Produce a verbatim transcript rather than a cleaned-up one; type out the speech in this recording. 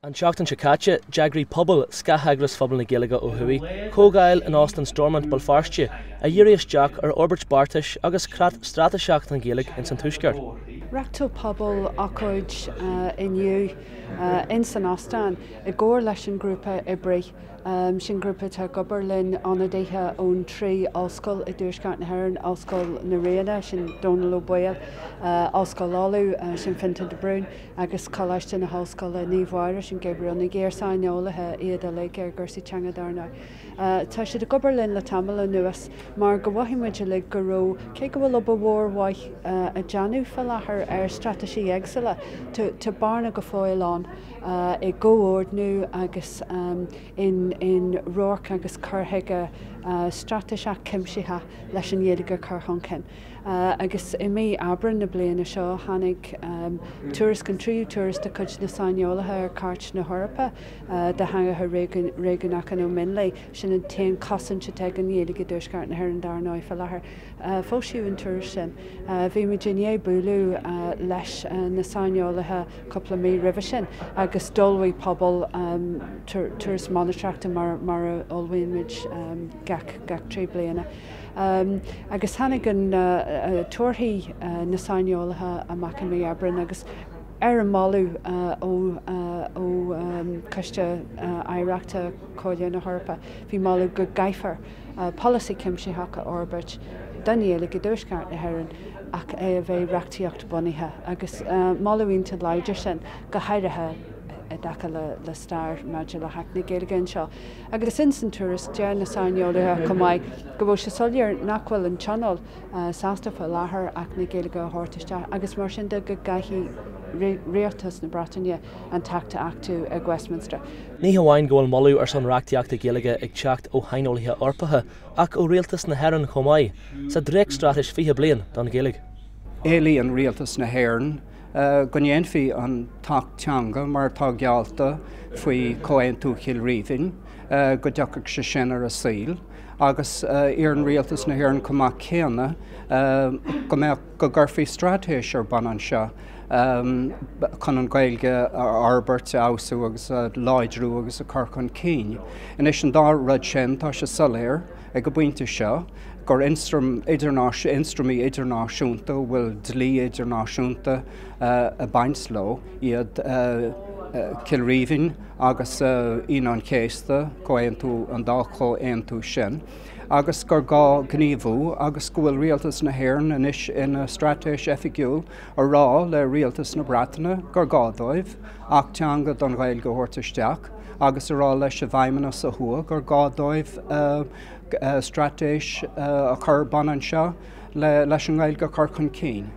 An tseachtain seo caite, d'eagraigh Pobal, scátheagras phobal na Gaeilge ó thuaidh, comhdháil in Óstán Stormont, Béal Feirste, a dhírigh isteach ar fhorbairt beartais agus creat straitéiseach don Ghaeilge ins an Tuaisceart. Reáchtáil Pobal ócáid inniu in san óstán i gcomhar leis an grúpa oibre. Um, sin grúpa atá ag obair linn, ionadaithe ón trí ollscoil i dTuaisceart na hÉireann: Ollscoil na Ríona, sin Dónal Ó Baoill, uh, Ollscoil Uladh, uh, sin Fintan de Brún, agus Coláiste na hOllscoile Naomh Mhuire, sin Gabriel Ní Ghéar, saineolaithe iad uilig ar chúrsaí teanga dar ndóigh. Uh, tá siad ag obair linn le tamall anuas mar go mhothaigh muid uilig go raibh, cé go bhfuil obair mhór mhaith uh, á déanamh faoi láthair ar straitéisí éagsúla, tá bearna go fóill ann uh, i gcomhordú agus um, in, in radharc agus cur chuige uh, straitéiseach cuimsitheach leis an Ghaeilge a chur chun cinn. Uh, agus i mí Aibreáin na bliana seo tháinig um, tuairisc, an tríú tuairisc de chuid na saineolaithe ar Chairt na hEorpa uh, do theangacha réigiúnacha nó mionlaigh, sin an t-aon chosaint atá ag an Ghaeilge i dTuaisceart na hÉireann dar ndóigh faoi láthair. Uh, Foilsíodh an tuairisc sin. Uh, bhí muid i ndiaidh bualadh uh, leis uh, na saineolaithe cúpla mí roimhe sin agus d'ullmhaigh Pobal um, tuairisc monatóireachta mar, mar a ullmhaíonn muid um, gach, gach trí bliana. Um, agus tháinig an uh, torthaí uh, na saineolaithe amach i mí Aibreáin agus ar an moladh uh, ó, uh, ó um, Coiste uh, Oidhreachta Chomhairle na hEorpa, bhí moladh go gcaithfear uh, polasaí cuimsitheach a fhorbairt don Ghaeilge i dTuaisceart na hÉireann ach é a bheith reachtaíocht bunaithe agus uh, moladh iontach láidir sin, go háirithe i dtaca le, le stair maidir le hAcht na Gaeilge anseo. Agus in san tuairisc deir na saineolaithe chomh maith go bhfuil sé soiléir nach bhfuil an Tionól uh, sásta faoi láthair Acht na Gaeilge a thabhairt isteach agus mar sin de go gcaithfidh rialtas na Breataine an tAcht a achtú ag Westminster. Ní hamháin go bhfuil moladh ar son reachtaíochta Gaeilge ag teacht ó shaineolaithe Eorpacha ach ó rialtas na hÉireann chomh maith, sa dréachtstraitéis fiche bliain don Ghaeilge. Éilíonn rialtas na hÉireann uh, go ndéanfaí an tAcht Teanga mar atá geallta faoi Chomhaontú Chill Rímhinn, uh, go dtiocfadh sé sin ar an saol, agus uh, iarrann rialtas na hÉireann chomh maith céanna uh, go mbeadh go gcuirfí straitéis ar bun anseo um, chun an Ghaeilge a fhorbairt, a fheabhsú agus a láidriú agus a chur chun cinn. Anois an dá rud sin, tá sé soiléir ag an bpointe seo gur ionstraim ionstraimí idirnáisiúnta bhfuil dlí idirnáisiúnta uh, ag baint leo iad uh, uh, Cill Rímhinn agus Aoine an Chéasta, comhaontú, an dá chomhaontú sin, agus gur gá gníomhú agus go bhfuil rialtas na hÉireann anois ina straitéis oifigiúil á rá le rialtas na Breataine gur gá dóibh Acht Teanga don Ghaeilge a thabhairt isteach agus a rá leis an bhFeidhmeannas ó thuaidh gur gá dóibh uh, uh, straitéis uh, a chur ar bun anseo le, leis an Ghaeilge a chur chun cinn.